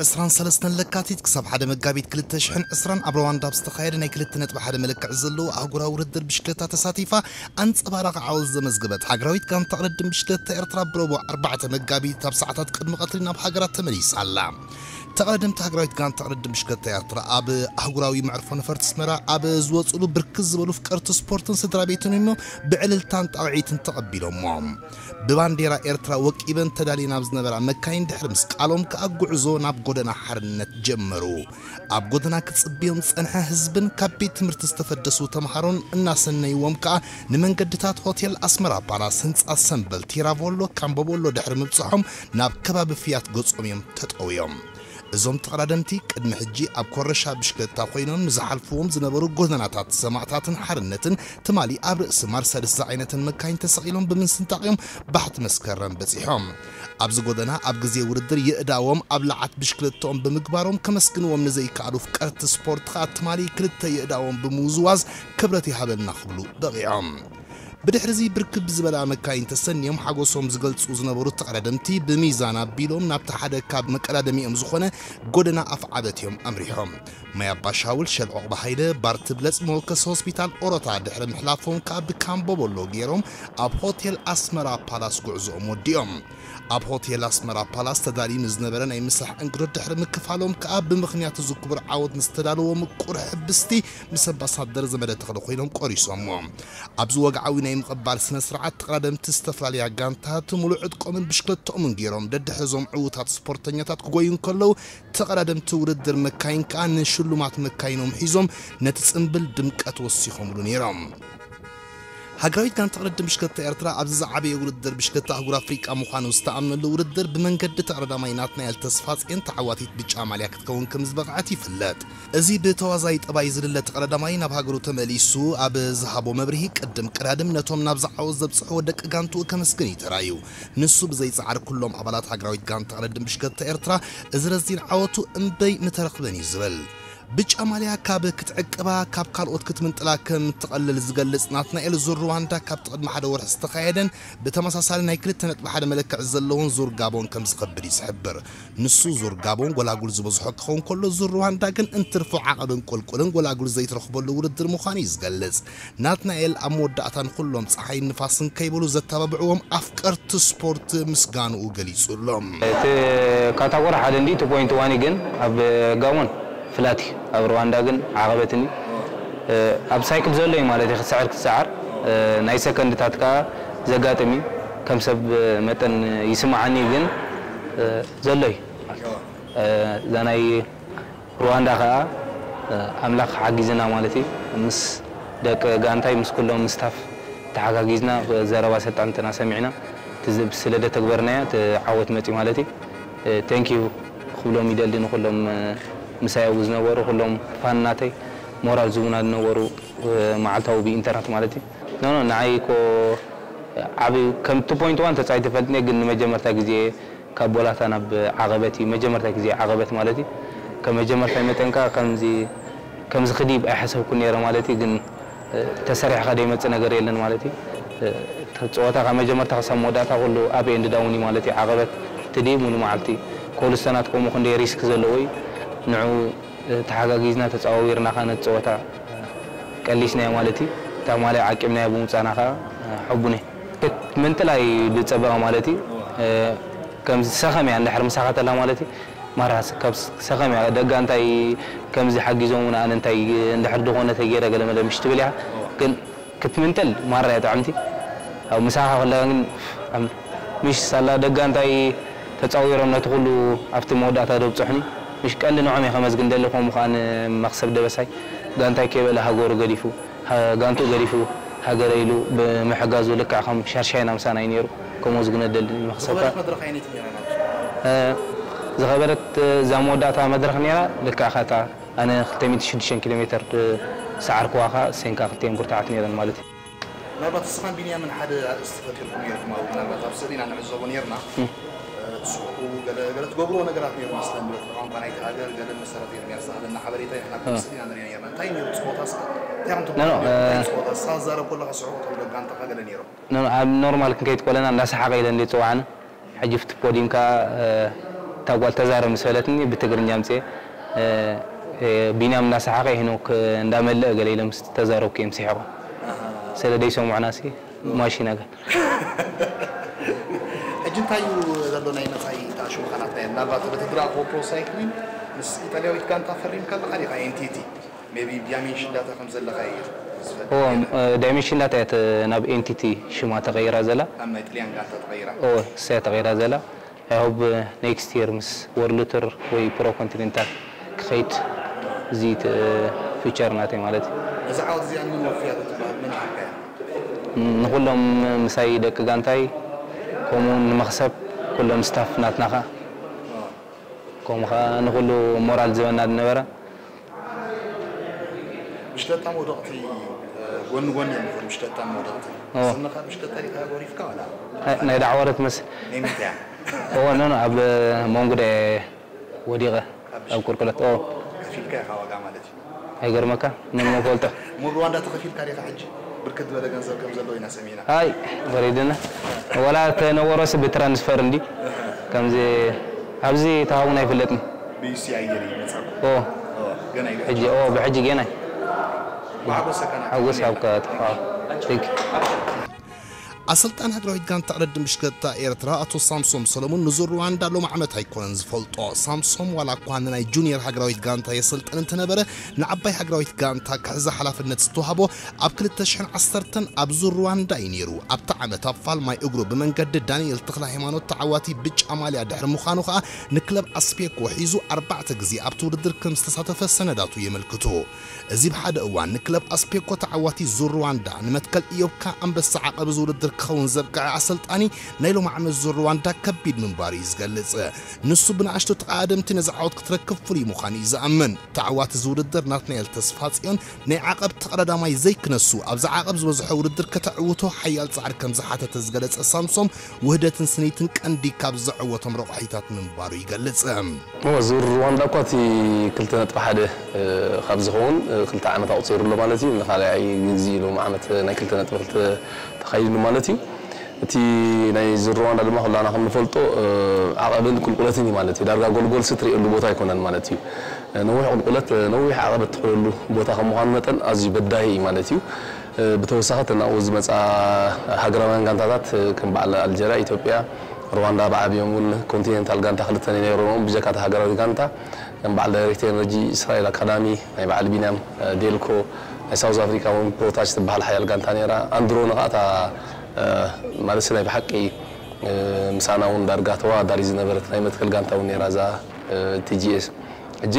ዕስራን ሰለስተን ለካቲት ክሳብ ሓደ መጋቢት ክልተ ሽሕን ዕስራን ኣብ ሩዋንዳ ኣብ ዝተኻየደ ናይ ክልተ ነጥቢ ሓደ መለክዒ ዘለዎ ኣህጉራዊ ውድድር ብሽክለታ ተሳቲፋ ኣንጸባራቒ ዓወት ዘመዝገበት ሃገራዊት ጋንታ ቅድድም ብሽክለታ ኤርትራ ብረቡዕ ኣርባዕተ መጋቢት ኣብ ሰዓታት ቅድሚ ቀትሪ ናብ ሃገራ ተመሊሳ ኣላ። ተቐዳደምቲ ሃገራዊት ጋንታ ቅድድም ብሽክለታ ኤርትራ ኣብ ኣህጉራዊ መዕርፎ ነፈርቲ ኣስመራ ኣብ ዝወጽሉ ብርክት ዝበሉ ፍቀርቲ ስፖርትን ስድራ ቤትን እዮም ብዕልልታን ጣቕዒትን ተቐቢሎሞ። ብባንዴራ ኤርትራ ወቂበን ተዳልየን ኣብ ዝነበራ መካይን ድሕሪ ምስቃሎም ከኣ ጉዕዞ ናብ ጎደና ሓርነት ጀመሩ። ኣብ ጎደና ክጽብዮም ዝጸንሐ ህዝብን ካብ ቤት ትምህርቲ ዝተፈደሱ ተምሃሮን እናሰነይዎም ከኣ ንመንገድታት ሆቴል ኣስመራ ፓላስ፣ ህንጻ ሰምበል፣ ቲራቮሎ፣ ካምቦቦሎ ድሕሪ ምብጽሖም ናብ ከባቢ ፍያት ገጾም እዮም ተጠውዮም። እዞም ተቐዳደምቲ ቅድሚ ሕጂ ኣብ ኮረሻ ብሽክለታ ኮይኖም ንዝሓልፍዎም ዝነበሩ ጎደናታት ሰማእታትን ሓርነትን ትማሊ ኣብ ርእሲ ማርሰድስ ዝዓይነተን መካይን ተሰቒሎም ብምስንጣቕ እዮም ባሕቲ መስከረም በጺሖም። ኣብዚ ጎደና ኣብ ግዜ ውድድር የእዳዎም ኣብ ለዓት ብሽክለታኦም ብምግባሮም ከመስግንዎም ንዘይከኣሉ ፍቀርቲ ስፖርት ከኣ ትማሊ ክልተ የእዳዎም ብምውዝዋዝ ክብረት ይሃበልና ክብሉ በቒዖም። ብድሕሪዚ ብርክብ ዝበላ መካይን ተሰንዮም ሓጎሶም ዝገልጹ ዝነበሩ ተቐዳደምቲ ብሚዛን ኣቢሎም ናብቲ ሓደ ካብ መቀዳደሚኦም ዝኾነ ጎደና ኣፍዓበት እዮም ኣምሪሖም። ማይ ኣባሻውል፣ ሸል ዑቕባ ሃይለ፣ ባር ትብለጽ፣ መወከሲ ሆስፒታል ኦሮታ ድሕሪ ምሕላፎም ከኣ ብካምቦ ቦሎ ገይሮም ኣብ ሆቴል ኣስመራ ፓላስ ጉዕዞኦም ወዲኦም። ኣብ ሆቴል ኣስመራ ፓላስ ተዳልዩ ንዝነበረ ናይ ምሳሕ እንግዶት ድሕሪ ምክፋሎም ከኣ ብምኽንያት እዚ ክቡር ዓወት ንዝተዳለዎ ምቁር ሕብስቲ ምስ ኣምባሳደር ዘመደ ተኽለ ኮይኖም ቆሪሶሞ። ኣብዚ ወግዓዊ ናይ ምቕባል ስነ ስርዓት ተቐዳደምቲ ዝተፈላለያ ጋንታት ሙሉእ ዕጥቆምን ብሽክለተኦምን ገይሮም ደድሕሪ እዞም ዕዉታት ስፖርተኛታት ክጎዩ እንከለዉ ተቐዳደምቲ ውድድር መካይን ከኣ ንሽሉማት መካይኖም ሒዞም ነቲ ጽምብል ድምቀት ወሲኾምሉ ነይሮም። ሃገራዊት ጋንታ ቅድድም ብሽክለታ ኤርትራ ኣብዚ ዝዓበየ ውድድር ብሽክለታ ኣህጉር ኣፍሪቃ ምዃኑ ዝተኣምነሉ ውድድር ብመንገዲ ተቐዳዳማይ ናትናኤል ተስፋጽዮን ተዓዋቲት ብጫ ማልያ ክትከውን ከም ዝበቕዐት ይፍለጥ። እዚ ብተዋዛይ ጠባይ ዝልለ ተቐዳዳማይ ናብ ሃገሩ ተመሊሱ ኣብ ዝሃቦ መብርሂ ቅድም ቀዳድም ነቶም ናብዚ ዓወት ዘብጽሕዎ ደቂ ጋንትኡ ከመስግን እዩ ተራእዩ። ንሱ ብዘይጻዕሪ ኩሎም ኣባላት ሃገራዊት ጋንታ ቅድድም ብሽክለታ ኤርትራ እዚ ረዚን ዓወቱ እምበይ ምተረኽበን እዩ ዝብል። ብጫ ማልያ ካብ ክትዕቅባ ካብ ካልኦት ክትምንጥላ ከም እትቐልል ዝገልጽ ናትናኤል ዙር ሩዋንዳ ካብቲ ቅድሚ ሓደ ወርሒ ዝተኻየደን ብተመሳሳሊ ናይ ክልተ ነጥቢ ሓደ መለክዒ ዘለዎን ዙር ጋቦን ከም ዝኸብድ እዩ ዝሕብር። ንሱ ዙር ጋቦን ጎላጉል ዝበዝሖ ክኸውን ከሎ ዙር ሩዋንዳ ግን እንትርፎ ዓቐብን ቁልቁልን ጎላጉል ዘይትረኽበሉ ውድድር ምዃኑ እዩ ዝገልጽ። ናትናኤል ኣብ መወዳእታ ንኹሎም ጸሓይን ንፋስን ከይበሉ ዘተባብዕዎም ኣፍቀርቲ ስፖርት ምስጋንኡ ገሊጹ ኣሎ። እቲ ካታጎሪ ሓደ እንዲ ቱ ፖይንት ዋን ግን ኣብ ጋቦን ፍላት እዩ፣ ኣብ ሩዋንዳ ግን ዓቐበት እንዲ። ኣብ ሳይክል ዘሎ እዩ ማለት እዩ፣ ክትሰዕር ክትሰዓር ናይ ሰከንድታት ከኣ ዘጋጥም እዩ። ከም ሰብ መጠን ይስምዓኒ ግን ዘሎ እዩ። እዛ ናይ ሩዋንዳ ከኣ ኣምላኽ ሓጊዝና ማለት እዩ። ምስ ደቂ ጋንታይ ምስ ኩሎም ስታፍ ተሓጋጊዝና ዘረባ ሰልጠንትና ሰሚዕና እቲ ዝ- ስለ ደተግበርናዮ እቲ ዓወት መጽዩ ማለት እዩ። ቴንኪዩ ክብሎም ይደሊ ንኩሎም ምሳይ ኣብኡ ዝነበሩ ኩሎም ፋን ናተይ ሞራል ዝቡና ዝነበሩ መዓልታዊ ብኢንተርነት ማለት እዩ። ኖ ኖ ንዓይ እኮ ዓቢ ከም ቱ ፖይንት ዋን ተጻይ ትፈልጥኒ ግን ንመጀመርታ ግዜ ካብ ቦላታ ናብ ዓቐበት እዩ መጀመርታ ግዜ ዓቐበት ማለት እዩ። ከም መጀመርታ መጠን ከኣ ከምዚ ከምዚ ክድይብ ኣይሓሰብኩን ነይረ ማለት እዩ። ግን ተሰሪሕካ ዘይመጽእ ነገር የለን ማለት እዩ። እቲ ጸወታ ካብ መጀመርታ ክሳብ መወዳእታ ኩሉ ኣብ ኤንድ ዳውን እዩ ማለት እዩ። ዓቐበት ትድይብ ሙሉ መዓልቲ ኮብልስቶናት ከምኡ ክንደይ ሪስክ ዘለዎ እዩ። ንዑ ተሓጋጊዝና ተጸዋዊርና ከኣ ነቲ ጸወታ ቀሊስናዮ ማለት እዩ። እታ ማልያ ዓቂብናዮ ብምውጻእና ከኣ ሕቡን እየ። ክትምንጥል ኣይድጸበቐ ማለት እዩ። ከምዚ ሰኸም እያ እንድሕር ምሳኻ ተላ ማለት እዩ። ማራ ካብ ሰኸም እያ ደጋ እንታይ ከምዚ ሓጊዞም ኣነ እንታይ እንድሕር ዝኾነ ተገይረ ገለ መለ ምሽ ትብል እያ። ግን ክትምንጥል ማራ እያ ጥዕምቲ። ኣብ ምሳኻ ከለኻ ግን ምሽ ሳላ ደጋ እንታይ ተጻዊሮም ነቲ ኩሉ ኣብቲ መወዳእታ ደብጽሑኒ። ምሽ ቀንዲ ንዖም እየ ከመስግን ደሊ ከምኡ ከኣ ንመኽሰብ ደበሳይ ጋንታይ ከይበለ ሃገሩ ገዲፉ ጋንትኡ ገዲፉ ሃገረ ኢሉ ብምሕጋዙ ልክዕ ከም ሻርሻይና ምሳና እዩ ነይሩ። ከምኡ ዝግነ ደሊ ንመኽሰብ ከኣ ዝኸበደት መድረኽ ኣየነይቲ ነይራ ናቱ? ዝኸበደት እዛ መወዳእታ መድረኽ ነይራ ልክዕ ከታ ኣነ ክልተ ሚእቲ ሽዱሽተ ኪሎ ሜትር ዝሰዓርክዋ ከኣ እሰን ከኣ ክልቲኤን ብርቱዓት ነይረን ማለት እዩ። ምናልባት እስኻን ቢንያምን ሓደ ኣርእስቲ ፈጢርኩም ነይርኩም ኣብኡ ምናልባት ኣብ ስእሊ ኢና ንዕዘቦ ነይርና። ትስሕቁ ገለ ገለ ትገብርዎ ነገራት ነይሩ መስለን ብለት ቋንቋ ናይቲ ሃገር ገለ መሰረት ኤርምያስ ዝሃበና ሓበሬታ ኢና ከም ስእሊ ኢና ንሪኦ ነይርና። እንታይ ነይሩ ጸወታ እስኻ እንታይ ኢኹም ትብሉ ነይሩ? እንታይ ጸወታ እስኻ ትዛረብ ከለኻ ስሕቁ ትብሎ ጋንታኻ ገለ ነይሩ? ኣብ ኖርማል ክንከይድ ከለና እንዳሰሓቐ ኢለ እንደ ጽዋዕና ሕጂ ፍቲ ፖዲም ከኣ እታ እታ ጓል ተዛረብ ምስ በለትኒ ብትግርኛ ኣምፅኤ፣ እ፣ እ፣ ቢንያም እናሰሓቐ ሄኖክ እንዳመለአ ገለ ኢለ ምስ ተዛረብኩ እዮም ስሒቖም። ስለ ደይሰምዑና ሲ ማሽና ገ ሕጂ እንታይ እዩ ዘሎ ናይ መጻኢ እታ ሽምኻናት ናይ ምናልባት በቲ ድራጎ ፕሮ ሳይክሊን ምስ ኢጣልያዊት ጋንታ ፈሪምካ ኣለኻ ዲኻ? ኤንቲቲ ሜቢ ዳይሜንሽን ዳታ ከም ዘለኻ እዩ ዝፈልጥ። ዳይሜንሽን ዳታ እያ ናብ ኤንቲቲ ሽማ ተቐይራ ዘላ። ኣብ ናይ ጥልያን ጋንታ ተቐይራ። እሳ እያ ተቐይራ ዘላ። I hope next year ምስ ወርልድ ቱር ወይ ፕሮ ኮንቲኔንታል ክኸይድ፣ እዚ ፊውቸር ናተይ ማለት እዩ። ነዚ ዓወት እዚኣ ምን ወፍያ ትበሃል መን ይሃብካያ? ንኹሎም ምሳይ ደቂ ጋንታይ፣ ከምኡ እውን ንመኽሰብ ኩሎም ስታፍ ናትና ኸዓ፣ ከምኡ ኸዓ ንኹሉ ሞራል ዝህበና ዝነበረ። ብሽተታ መውደቕቲ ጎኒ ጎኒ እዮም ዝኾኑ። ብሽተታ መውደቕቲ ኦ። ስንኻ ብሽተታ ዲኻ ጎሪፍካ ዋላ? ናይ ዳዕወረ ትመስል። ናይ ምንታይ እያ? እዎ፣ ኖ፣ ኖ፣ ኣብ መንጉደ ወዲቐ፣ ኣብ ቁልቁለት። ኦ፣ ከፊልካ ኢኻ ዋጋ ማለት እዩ። ኣይገርመካ? ምን መፈልጦ። ሙሉ ሩዋንዳ ተኸፊልካ ዲኻ ሕጂ? ብርክት ዝበለ ገንዘብ ከም ዘለዎ ኢና ሰሚዕና። ኣይ፣ ወሪድና። ወላ ተነወሮስ ብትራንስፈር እንዲ። ከምዚ ኣብዚ ተሃቡና ኣይፍለጥን። ብዩሲ ኣየር ይመጻኩም። ኦ፣ ኦ፣ ገና እዩ። ሕጂ፣ ኦ፣ ብሕጂ ገና። ብሓጎሰካ ናብ ሓጎስ ተመልየና። ኣብካ ጥፋ። Thank you። ኣሰልጣኒ ሃገራዊት ጋንታ ቅድድም ብሽክለታ ኤርትራ ኣቶ ሳምሶም ሰለሙን ንዙር ሩዋንዳ ሎም ዓመት ኣይኮነን ዝፈልጦ። ሳምሶም ዋላ እኳ ንናይ ጁኒየር ሃገራዊት ጋንታ የሰልጥን እንተነበረ፣ ንዓባይ ሃገራዊት ጋንታ ክሕዛ ሓላፍነት ዝተዋህቦ ኣብ ክልተ ሽሕን ዓሰርተን ኣብ ዙር ሩዋንዳ እዩ ነይሩ። ኣብቲ ዓመት ኣብ ፋልማይ እግሩ ብመንገዲ ዳንኤል ተኽለ ሃይማኖት ተዓዋቲ ብጫ ማልያ ድሕሪ ምዃኑ ከኣ ንክለብ ኣስፔኮ ሒዙ ኣርባዕተ ግዜ ኣብቲ ውድድር ከም ዝተሳተፈ ሰነዳቱ የመልክቱ። እዚ ብሓደ እዋን ንክለብ ኣስፔኮ ተዓዋቲ ዙር ሩዋንዳ ንመትከል ኢዮብካ ኣንበሳ ዓቐብ እዚ ውድድር ክኸውን ዘብቅዐ ኣሰልጣኒ ናይ ሎሚ ዓመት ዙር ሩዋንዳ ከቢድ ምንባሩ እዩ ዝገልጽ። ንሱ ብንኣሽቱ ተቓደምቲ ነዚ ዓወት ክትረክብ ፍሉይ ምዃኑ እዩ ዝኣምን። ተዓዋቲ እዚ ውድድር ናትናኤል ተስፋጽዮን ናይ ዓቐብ ተቐዳዳማይ ዘይክነሱ ኣብዚ ዓቐብ ዝበዝሖ ውድድር ከተዕውቶ ሓያል ጻዕሪ ከም ዝሓተተ ዝገለጸ ሳምሶም ውህደትን ስኒትን ቀንዲ ካብ ዘዕወቶም ረቑሒታት ምንባሩ ይገልጽ። እወ፣ ዙር ሩዋንዳ እኳ እቲ ክልተ ነጥቢ ሓደ ካብ ዝኸውን ክልተ ዓመት ኣቑፂሩ ኣሎ ማለት እዩ። ንኻልኣይ ግዜ ሎም ዓመት ናይ ክልተ ነጥቢ ክልተ ተኻይዱ ማለት እዩ። እቲ ናይ ዙር ሩዋንዳ ድማ ኩላና ከም ንፈልጦ ዓቐብን ቁልቁለትን እዩ ማለት እዩ። ዳርጋ ጎልጎል ስትሪእሉ ቦታ ኣይኮነን ማለት እዩ። ነዊሕ ቁልቁለት፣ ነዊሕ ዓቐበት ትኽለሉ ቦታ ከም ምዃኑ መጠን ኣዝዩ በዳሂ እዩ ማለት እዩ። ብተወሳኺ እተን ኣብኡ ዝመፃ ሃገራውያን ጋንታታት ከም በዓል ኣልጀርያ፣ ኢትዮጵያ፣ ሩዋንዳ ብዓብዮም እውን ኮንቲኔንታል ጋንታ ክልተ ነይሮም። ብጀካ እታ ሃገራዊት ጋንታ ከም በዓል ዳይሬክት ኤነርጂ፣ እስራኤል ኣካዳሚ፣ ናይ በዓል ቢንያም፣ ዴልኮ፣ ናይ ሳውዝ ኣፍሪካ እውን ፖታሽ ትበሃል ሓያል ጋንታ ነይራ። ኣንድሮ ንኻእታ ማለት ናይ ብሓቂ ምሳና እውን ዳርጋ ተወዳዳሪ ዝነበረት ናይ መትከል ጋንታ እውን ነይራ እዛ ቲጂኤስ። ሕጂ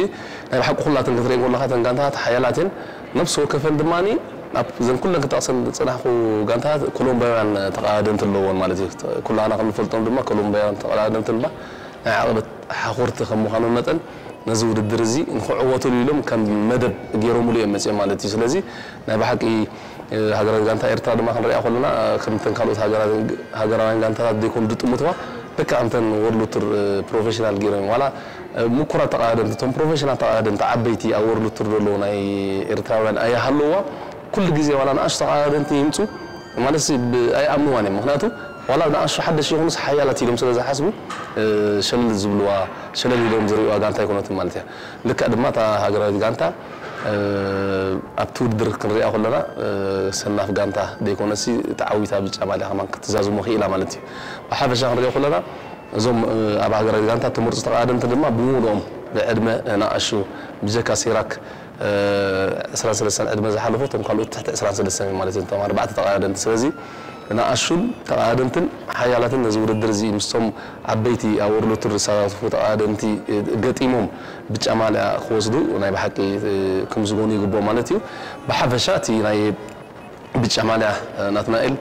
ናይ ብሓቂ ኩላተን ክትርኢ ከለኻ እተን ጋንታታት ሓያላት እየን። ነፍሲ ወከፈን ድማ ኣብ ዘን ኩለን ክጠቕሰን ዝፅናሕኩ ጋንታታት ኮሎምባውያን ተቐዳደምቲ ኣለዎን ማለት እዩ። ኩላና ከም ንፈልጦም ድማ ኮሎምባውያን ተቐዳደምቲ ድማ ናይ ዓቐበት ሓኾርቲ ከም ምዃኖም መጠን ነዚ ውድድር እዚ ንክዕወትሉ ኢሎም ከም መደብ ገይሮምሉ እዮም መፅኦም ማለት እዩ። ስለዚ ናይ ብሓቂ ሃገራዊት ጋንታ ኤርትራ ድማ ክንሪኣ ከለና ከምተን ካልኦት ሃገራውያን ጋንታታት ዘይኮኑ ዝጥምትዋ ልክዕ ከምተን ወርልድ ቱር ፕሮፌሽናል ገይሮም ዋላ ምኩራት ተቐዳደምቲ እቶም ፕሮፌሽናል ተቐዳደምቲ ዓበይቲ ኣብ ወርልድ ቱር ዘለዉ ናይ ኤርትራውያን ኣይሃለዋ ኩሉ ግዜ ዋላ ንኣሽቱ ተቐዳደምቲ ይምፁ ማለት ኣይኣምንዋን እዮም። ምክንያቱ ዋላ ንኣሽቱ ሓደሽ ይኹኑስ ሓያላት ኢሎም ስለ ዝሓስቡ ሸለል ዝብልዋ ሸለል ኢሎም ዝርእዋ ጋንታ ኣይኮነትን ማለት እያ። ልክዕ ድማ እታ ሃገራዊት ጋንታ ኣብቲ ውድድር ክንሪኣ ከለና ሰናፍ ጋንታ ዘይኮነሲ ተዓዊታ ብጫ ማልያ ከማን ክትዛዝሞ ክኢላ ማለት እዩ። ብሓፈሻ ክንሪኦ ከለና እዞም ኣብ ሃገራዊት ጋንታ ተመርፁ ተቐዳደምቲ ድማ ብምሉኦም ብዕድመ ንኣሹ ብጀካ ሲራክ ዕስራን ሰለስተን ዕድመ ዝሓለፎ እቶም ካልኦት ትሕቲ ዕስራን ሰለስተን ማለት እዮም እቶም ኣርባዕተ ተቐዳደምቲ። ስለዚ ንኣሹን ተቐዳደምትን ሓያላትን ነዚ ውድድር እዚ ምስቶም ዓበይቲ ኣብ ወርልድ ቱር ዝሳተፉ ተቐዳደምቲ ገጢሞም ብጫ ማልያ ክወስዱ ናይ ብሓቂ ክምስገኑ ይግብኦም ማለት እዩ። ብሓፈሻ እቲ ናይ ብጫ ማልያ ናትናኤል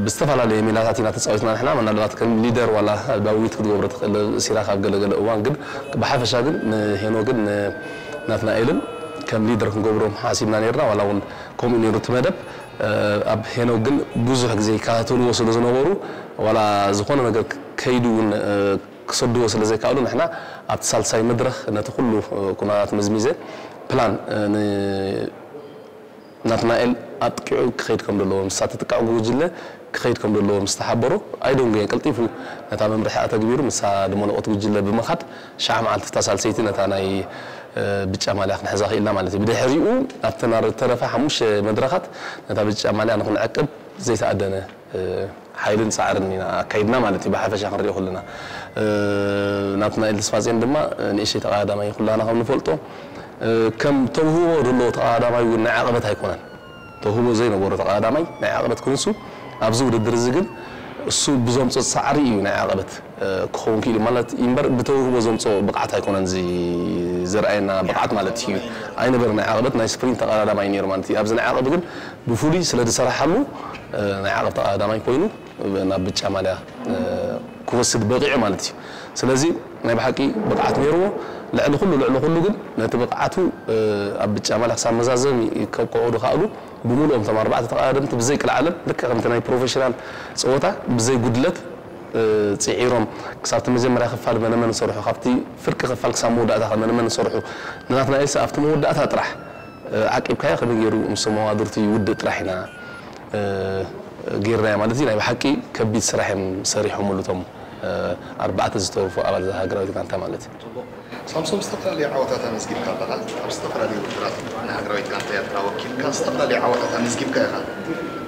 ብዝተፈላለየ ሜላታት ኢና ተፃዊትና ንሕና ምናልባት ከም ሊደር ዋላ ዳዊት ክትገብሮ ትኽእል ሲራክ ኣብ ገለገለ እዋን ግን ብሓፈሻ ግን ንሄኖ ግን ናትናኤልን ከም ሊደር ክንገብሮም ሓሲብና ነርና ዋላ እውን ከምኡ ነይሩ እቲ መደብ ኣብ ሄኖ ግን ብዙሕ ግዜ ይከታተልዎ ስለ ዝነበሩ ዋላ ዝኾነ ነገር ከይዱ እውን ክሰድዎ ስለ ዘይከኣሉ ንሕና ኣብቲ ሳልሳይ መድረኽ ነቲ ኩሉ ኩነታት መዝሚዘ ፕላን ናትናኤል ኣጥቂዑ ክኸይድ ከም ዘለዎ ምስ ተጥቃዕ ጉጅለ ክኸይድ ከም ዘለዎ ምስ ተሓበሮ፣ ኣይደንጎየን፣ ቀልጢፉ ነታ መምርሒ ኣተግቢሩ፣ ምስታ ድመለቆት ጉጅለ ብምኻድ፣ ሸዓ መዓልቲ እታ ሳልሰይቲ ነታ ናይ፣ እ፣ ብጫ ማልያ ክንሕዛ ክኢልና ማለት እዩ። ብድሕሪኡ ኣብተን ዝተረፋ ሓሙሽተ መድረኻት ነታ ብጫ ማልያ ንኽንዕቅብ ዘይተኣደነ፣ እ፣ ሓይልን ጻዕርን ኢና ኣካይድና ማለት እዩ። ብሓፈሻ ክንሪኦ ከለና፣ እ፣ ናትናኤል ተስፋጼን ድማ፣ እ፣ ንእሽተይ ተቐዳዳማይ ኩላና ከም ንፈልጦ፣ እ፣ ከም ተውህቦ ዘለዎ ተቐዳዳማይ እውን ናይ ዓቐበት ኣይኮነን። ተውህቦ ዘይነበሮ ተቐዳዳማይ ናይ ዓቐበት ክንሱ ኣብዚ ውድድር እዚ ግን እሱ ብዘምጾ ጻዕሪ እዩ ናይ ዓቐበት፣ እ፣ ክኸውን ክኢሉ ማለት እዩ እምበር ብተውህቦ ዘምጾ ብቕዓት ኣይኮነን እዚ ዘርኣየና ብቕዓት ማለት እዩ። ኣይነበረ ናይ ዓቐበት ናይ ስፕሪንት ተቐዳዳማይ ነይሩ ማለት እዩ። ኣብዚ ናይ ዓቐብ ግን ብፍሉይ ስለ ዝሰራሓሉ፣ እ፣ ናይ ዓቐብ ተቐዳዳማይ ኮይኑ ናብ ብጫ ማልያ፣ እ፣ ክወስድ በቒዑ ማለት እዩ። ስለዚ ናይ ብሓቂ ብቕዓት ነይርዎ። ልዕሊ ኩሉ፣ ልዕሊ ኩሉ ግን ነቲ ብቕዓቱ፣ እ፣ ኣብ ብጫ ማልያ ክሳብ መዛዘሚ ከብቅዑ ዝኸኣሉ ብምሉኦም እቶም ኣርባዕተ ተቐዳደምቲ ብዘይ ቅልዓለም ልክዕ ከምቲ ናይ ፕሮፌሽናል ጸወታ ብዘይ ጉድለት፣ እ፣ ጽዒሮም ክሳብቲ መጀመርያ ክፋል መነመን ዝሰርሑ፣ ካብቲ ፍርቂ ክፋል ክሳብ መወዳእታ ከ መነመን ዝሰርሑ፣ ንናትናኤልስ ኣብቲ መወዳእታ ጥራሕ፣ እ፣ ዓቂብካዮ ከመይ ገይሩ ምስ መዋድርቱ ይውድእ ጥራሕ ኢና፣ እ፣ ጌርናዮ ማለት እዩ። ናይ ብሓቂ ከቢድ ስራሕ እዮም ሰሪሖምሉ እቶም፣ እ፣ ኣርባዕተ ዝተወፉ ኣባል እዛ ሃገራዊት ጋንታ ማለት እዩ። ጽቡቕ። ሳምሶም፣ ዝተፈላለዩ ዓወታት ኣመዝጊብካ ኣለኻ። ኣብ ዝተፈላለዩ ውድድራት ንሃገራዊት ጋንታ ኤርትራ ወኪልካ ዝተፈላለዩ ዓወታት ኣመዝጊብካ ኢኻ።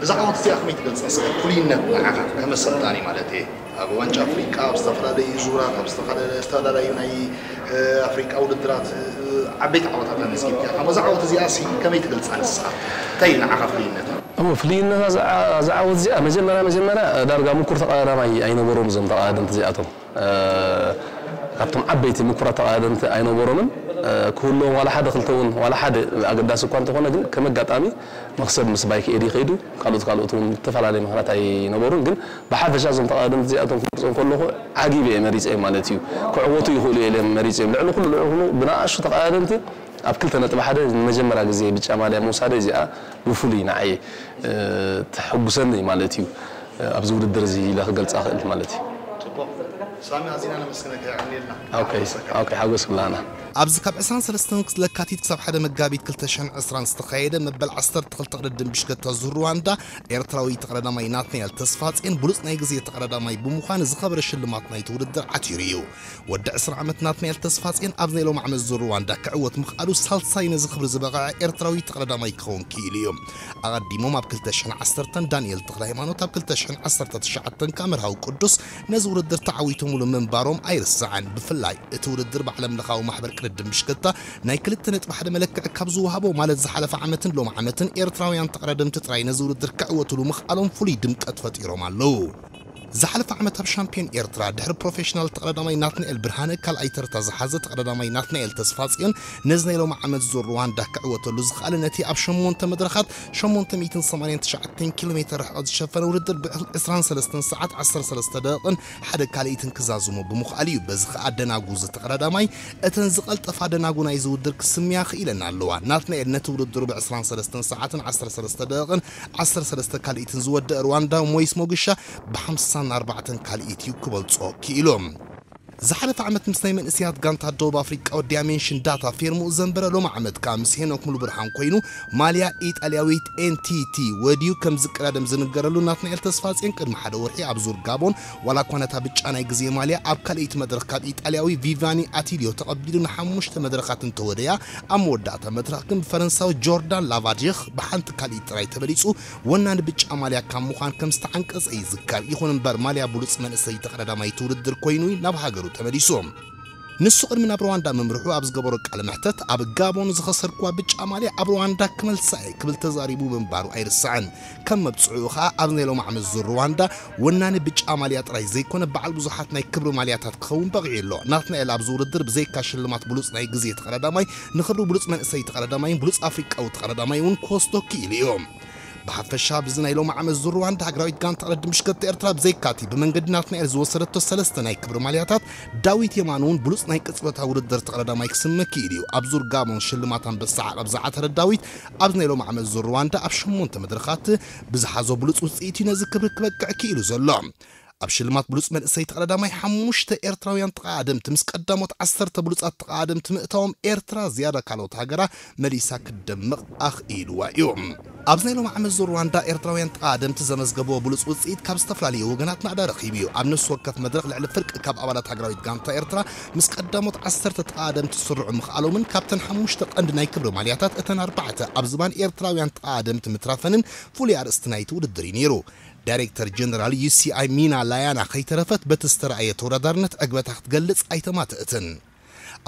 እዛ ዓወት እዚኣ ከመይ ትገልጻ? እስከ ፍሉይነት ንዓኻ ከም ኣሰልጣኒ ማለት እየ። ኣብ ዋንጫ ኣፍሪቃ፣ ኣብ ዝተፈላለዩ ዙራት፣ ኣብ ዝተፈላለዩ፣ ዝተፈላለዩ ናይ፣ እ፣ ኣፍሪቃ ውድድራት፣ እ፣ ዓበይቲ ዓወታት ኣመዝጊብካ ኢኻ። እዛ ዓወት እዚኣ ሲ ከመይ ትገልጻ ንስኻ? እንታይ እዩ ንዓኻ ፍሉይነታ? እወ፣ ፍሉይነታ እዛ፣ እዛ ዓወት እዚኣ መጀመርያ፣ መጀመርያ ዳርጋ ምኩር ተቐዳዳማይ ኣይነበሮም እዞም ተቐዳደምቲ እዚኣቶም። እ፣ ካብቶም ዓበይቲ ምኩራት ተቐዳደምቲ ኣይነበሮምን። እ፣ ክህልዎም ዋላ ሓደ ክልተ እውን፣ ዋላ ሓደ ኣገዳሲ እኳ እንተኾነ፣ ግን ከም ኣጋጣሚ መኽሰብ ምስ ባይክ ኤዲ ከይዱ፣ ካልኦት፣ ካልኦት እውን ዝተፈላለየ ምኽንያት ኣይነበሩን። ግን ብሓፈሻ እዞም ተቐዳደምቲ እዚኣቶም ክገልጾም ከለኹ ዓጊበ እየ መሪጸዮም ማለት እዩ። ክዕወቱ ይኽእሉ እዮም ኢለ መሪጸዮም። ልዕሊ ኩሉ፣ ልዕሊ ኩሉ ብንኣሽቱ ተቐዳደምቲ ኣብ ክልተ ነጥቢ ሓደ ንመጀመርያ ግዜ ብጫ ማልያ ምውሳደይ እዚኣ ብፍሉይ ንዓይ፣ እ፣ ተሐጉሰኒ ማለት እዩ። እ፣ ኣብዚ ውድድር እዚ ኢለ ክገልጻ እኽእል ማለት እዩ። ጽቡቕ። ሳሚ፣ ኣዚና ነመስግነካ፣ የቐንየልና። ኦኬ፣ ሓጎሰካ። ኦኬ፣ ሓጎስ ኩላና። ኣብዚ ካብ ዕስራን ሰለስተን ለካቲት ክሳብ ሓደ መጋቢት ክልተ ሽሕን ዕስራን ዝተኻየደ መበል ዓሰርተ ክልተ ቅድድም ብሽክለታ ዙር ሩዋንዳ፣ ኤርትራዊ ተቐዳዳማይ ናትናኤል ተስፋጼን ብሉጽ ናይ ግዜ ተቐዳዳማይ ብምዃን ዝኸበረ ሽልማት ናይቲ ውድድር ዓቲሩ እዩ። ወዲ ዕስራ ዓመት ናትናኤል ተስፋጼን ኣብ ናይ ሎሚ ዓመት ዙር ሩዋንዳ ክዕወት ምኽኣሉ ሳልሳይ ነዚ ክብሪ ዝበቕዐ ኤርትራዊ ተቐዳዳማይ ክኸውን ክኢሉ እዩ። ኣቐዲሞም ኣብ ክልተ ሽሕን ዓሰርተን ዳንኤል ተኽለሃይማኖት፣ ኣብ ክልተ ሽሕን ዓሰርተ ትሽዓተን ከኣ መርሃዊ ቅዱስ ነዚ ውድድር ተዓዊቶምሉ ምንባሮም ኣይርስዕን። ብፍላይ እቲ ውድድር ብዓለም ለኻዊ ማሕበር ቅድድም ብሽክለታ ናይ ክልተ ነጥቢ ሓደ መለክዒ ካብ ዝወሃቦ፣ ማለት ዝሓለፈ ዓመትን ሎሚ ዓመትን ኤርትራውያን ተቐዳደምቲ ጥራይ ነዚ ውድድር ክዕወትሉ ምኽኣሎም ፍሉይ ድምቀት ፈጢሮም ኣለዉ። ዝሓለፈ ዓመት ኣብ ሻምፒዮን ኤርትራ ድሕሪ ፕሮፌሽናል ተቐዳዳማይ ናትናኤል ብርሃነ ካልኣይ ተርታ ዝሓዘ ተቐዳዳማይ ናትናኤል ተስፋጽዮን ነዚ ናይ ሎሚ ዓመት ዙር ሩዋንዳ ክዕወተሉ ዝኸኣለ ነቲ ኣብ ሸሞንተ መድረኻት ሸሞንተ ሚእትን ሰማንያን ትሽዓተን ኪሎ ሜተር ርሕቐት ዝሸፈነ ውድድር ብዕስራን ሰለስተን ሰዓት ዓሰርተ ሰለስተ ደቂቕን ሓደ ካልኢትን ክዛዝሞ ብምኽኣሉ እዩ። በዚ ከኣ ደናጉ እዚ ተቐዳዳማይ እተን ዝቐልጠፋ ደናጉ ናይዚ ውድድር ክስምያ ክኢለን ኣለዋ። ናትናኤል ነቲ ውድድሩ ብዕስራን ሰለስተን ሰዓትን ዓሰርተ ሰለስተ ደቂቕን ዓሰርተ ሰለስተ ካልኢትን ዝወደአ ሩዋንዳዊ ሞይስ ሞግሻ ብሓምሳን ኣርባዕተን ካልኢት እዩ ክበልጾ ክኢሉ። ዝሓለፈ ዓመት ምስ ናይ መንእሰያት ጋንታ ደቡብ ኣፍሪቃ ዲያሜንሽን ዳታ ፌርምኡ ዘንበረ፣ ሎሚ ዓመት ከኣ ምስ ሄኖክ ሙሉብርሃን ኮይኑ ማልያ ኢጣልያዊት ኤንቲቲ ወድዩ ከም ዝቀዳደም ዝንገረሉ ናትናኤል ተስፋጽዮን ቅድሚ ሓደ ወርሒ ኣብ ዙር ጋቦን ዋላ እኳ ነታ ብጫ ናይ ግዜ ማልያ ኣብ ካልኣይቲ መድረኽ ካብ ኢጣልያዊ ቪቫኒ ኣቲልዮ ተቐቢሉ ንሓሙሽተ መድረኻት እንተወደያ፣ ኣብ መወዳእታ መድረኽ ግን ብፈረንሳዊ ጆርዳን ላቫዲኽ ብሓንቲ ካልኢት ጥራይ ተበሊጹ ወናኒ ብጫ ማልያ ካብ ምዃን ከም ዝተዓንቀጸ ይዝከር። ይኹን እምበር ማልያ ብሉጽ መንእሰይ ተቐዳዳማይ እቲ ውድድር ኮይኑ ናብ ሃገሩ ተመሊሱ። ንሱ ቅድሚ ናብ ሩዋንዳ ምምርሑ ኣብ ዝገበሮ ቃለ መሕተት፣ ኣብ ጋቦን ዝኸሰርክዋ ብጫ ማልያ ኣብ ሩዋንዳ ክመልሳ እየ ክብል ተዛሪቡ ምንባሩ ኣይርስዕን። ከም መብጽዕኡ ኸኣ ኣብ ናይ ሎሚ ዓመት ዙር ሩዋንዳ ወናኒ ብጫ ማልያ ጥራይ ዘይኮነ በዓል ብዙሓት ናይ ክብሪ ማልያታት ክኸውን በቒዑ ኣሎ። ናትናኤል ኣብዚ ውድድር ብዘይካ ሽልማት ብሉጽ ናይ ግዜ ተቐዳዳማይ ንኽብሪ ብሉጽ መንእሰይ ተቐዳዳማይን ብሉጽ ኣፍሪቃዊ ተቐዳዳማይ እውን ክወስዶ ክኢሉ እዩ። ብሓፈሻ ብዚ ናይ ሎሚ ዓመት ዙር ሩዋንዳ ሃገራዊት ጋንታ ቅድድም ብሽክለታ ኤርትራ ብዘይካቲ ብመንገዲ ናትናኤል ዝወሰደቶ ሰለስተ ናይ ክብሪ ማልያታት ዳዊት የማን እውን ብሉጽ ናይ ቅጽበታዊ ውድድር ተቐዳዳማይ ክስመ ክኢሉ እዩ። ኣብ ዙር ጋቦን ሽልማት ኣንበሳ ዓቐብ ዝዓተረ ዳዊት ኣብዚ ናይ ሎሚ ዓመት ዙር ሩዋንዳ ኣብ ሸሞንተ መድረኻት ብዝሓዞ ብሉጽ ውጽኢት እዩ ነዚ ክብሪ ክበቅዕ ክኢሉ ዘሎ። ኣብ ሽልማት ብሉጽ መንእሰይ ተቐዳዳማይ ሓሙሽተ ኤርትራውያን ተቐዳደምቲ ምስ ቀዳሞት ዓሰርተ ብሉጻት ተቐዳደምቲ ምእታዎም ኤርትራ ዝያዳ ካልኦት ሃገራ መሊሳ ክትደምቕ ኣኽኢልዋ እዩ። ኣብዚ ናይ ሎሚ ዓመት ዙር ሩዋንዳ ኤርትራውያን ተቓደምቲ ዘመዝገብዎ ብሉጽ ውጽኢት ካብ ዝተፈላለዩ ወገናት ናእዳ ረኺቡ እዩ። ኣብ ነፍሲ ወከፍ መድረኽ ልዕሊ ፍርቂ ካብ ኣባላት ሃገራዊት ጋንታ ኤርትራ ምስ ቀዳሞት ዓሰርተ ተቓደምቲ ስርዑ ምኽኣሎምን ካብተን ሓሙሽተ ቀንዲ ናይ ክብሪ ማልያታት እተን ኣርባዕተ ኣብ ዝባን ኤርትራውያን ተቓደምቲ ምትራፈንን ፍሉይ ኣርእስቲ ናይቲ ውድድር እዩ ነይሩ። ዳይሬክተር ጀነራል ዩ ሲ ኣይ ሚና ላያና ከይተረፈት በቲ ዝተረኣየ ተወዳዳርነት ዕግበታ ክትገልጽ ኣይተማትእትን።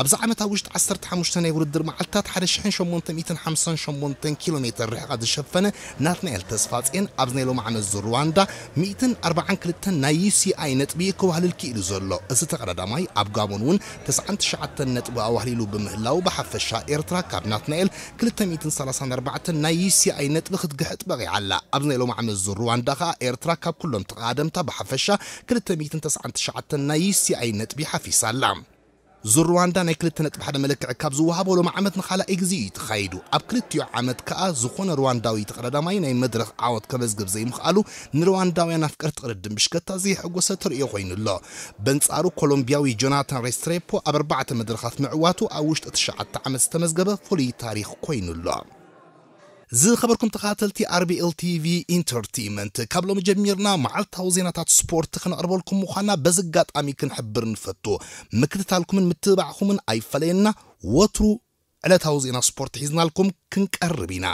ኣብዚ ዓመት ኣብ ውሽጢ ዓሰርተ ሓሙሽተ ናይ ውድድር መዓልታት ሓደ ሽሕን ሸሞንተ ሚእትን ሓምሳን ሸሞንተን ኪሎ ሜተር ርሕቐት ዝሸፈነ ናትናኤል ተስፋጽዮን ኣብዚ ናይ ሎሚ ዓመት ዙር ሩዋንዳ ሚእትን ኣርባዓን ክልተን ናይ ዩ ሲ ኣይ ነጥቢ ክዋህልል ክኢሉ ዘሎ። እዚ ተቐዳዳማይ ኣብ ጋቦን እውን ተስዓን ትሽዓተን ነጥቢ ኣዋህሊሉ ብምህላው ብሓፈሻ ኤርትራ ካብ ናትናኤል ክልተ ሚእትን ሰላሳን ኣርባዕተን ናይ ዩ ሲ ኣይ ነጥቢ ክትግሕጥ በቒዓ ኣላ። ኣብዚ ናይ ሎሚ ዓመት ዙር ሩዋንዳ ከኣ ኤርትራ ካብ ኩሎም ተቐዳደምታ ብሓፈሻ ክልተ ሚእትን ተስዓን ትሽዓተን ናይ ዩ ሲ ኣይ ነጥቢ ሓፊሳ ኣላ። ዙር ሩዋንዳ ናይ ክልተ ነጥቢ ሓደ መለክዒ ካብ ዝወሃቦ ሎሚ ዓመት ንኻልኣይ ግዜ እዩ ተኻይዱ። ኣብ ክልቲኡ ዓመት ከኣ ዝኾነ ሩዋንዳዊ ተቐዳዳማይ ናይ መድረኽ ዓወት ከመዝግብ ዘይምኽኣሉ ንሩዋንዳውያን ኣፍቀርቲ ቅድድም ብሽከታ ዘየሐጎሰ ተርእዮ ኮይኑ ኣሎ። በንጻሩ ኮሎምቢያዊ ጆናታን ሬስትሬፖ ኣብ ኣርባዕተ መድረኻት ምዕዋቱ ኣብ ውሽጢ ትሽዓተ ዓመት ዝተመዝገበ ፍሉይ ታሪኽ ኮይኑ ኣሎ። ዝኸበርኩም ተኸታተልቲ ኣር ቢ ኤል ቲ ቪ ኢንተርቴይንመንት፣ ካብ ሎሚ ጀሚርና መዓልታዊ ዜናታት ስፖርት ክነቕርበልኩም ምዃና በዚ ኣጋጣሚ ክንሕብር ንፈቱ። ምክትታልኩምን ምትብባዕኩምን ኣይፈለየና። ወትሩ ዕለታዊ ዜና ስፖርት ሒዝናልኩም ክንቀርብ ኢና።